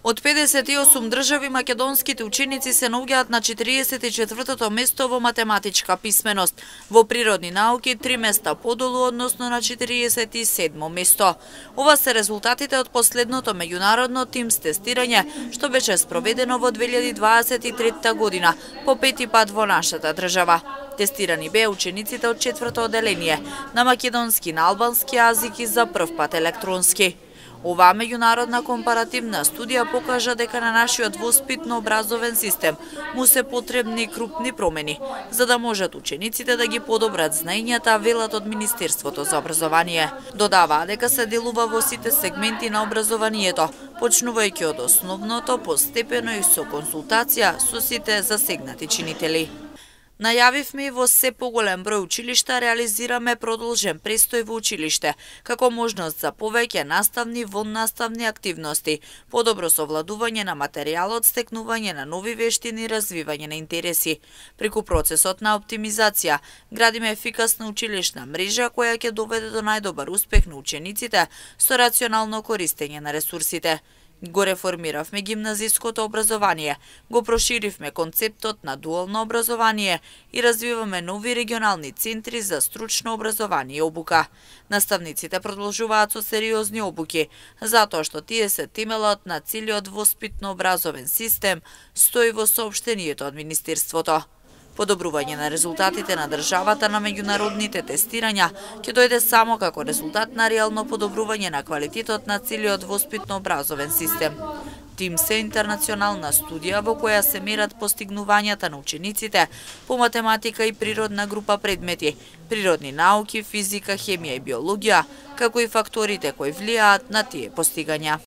Од 58 држави македонските ученици се наоѓаат на 44-тото место во математичка писменост, во природни науки 3 места подолу, односно на 47-мо место. Ова се резултатите од последното меѓународно тимс тестирање, што беше спроведено во 2023 година, по пети пат во нашата држава. Тестирани беа учениците од 4-то оделение на македонски, на албански јазик и за прв пат електронски. Оваа меѓународна компаративна студија покажа дека на нашиот воспитно-образовен систем му се потребни крупни промени, за да можат учениците да ги подобрат знаењата, велат од Министерството за образование. Додаваа дека се делува во сите сегменти на образованието, почнувајќи од основното, постепено и со консултација со сите засегнати чинители. Најавивме и во се поголем број училишта реализираме продолжен престој во училиште, како можност за повеќе наставни, воннаставни активности, подобро совладување на материјалот, стекнување на нови вештини и развивање на интереси. Преку процесот на оптимизација, градиме ефикасна училишна мрежа која ќе доведе до најдобар успех на учениците со рационално користење на ресурсите. Го реформиравме гимназиското образование, го проширивме концептот на дуално образование и развиваме нови регионални центри за стручно образование и обука. Наставниците продолжуваат со сериозни обуки, затоа што тие се темелот на целиот воспитно-образовен систем, стои во соопштението од Министерството. Подобрување на резултатите на државата на меѓународните тестирања ќе дојде само како резултат на реално подобрување на квалитетот на целиот воспитно-образовен систем. Тимс е интернационална студија во која се мерат постигнувањата на учениците по математика и природна група предмети, природни науки, физика, хемија и биологија, како и факторите кои влијаат на тие постигања.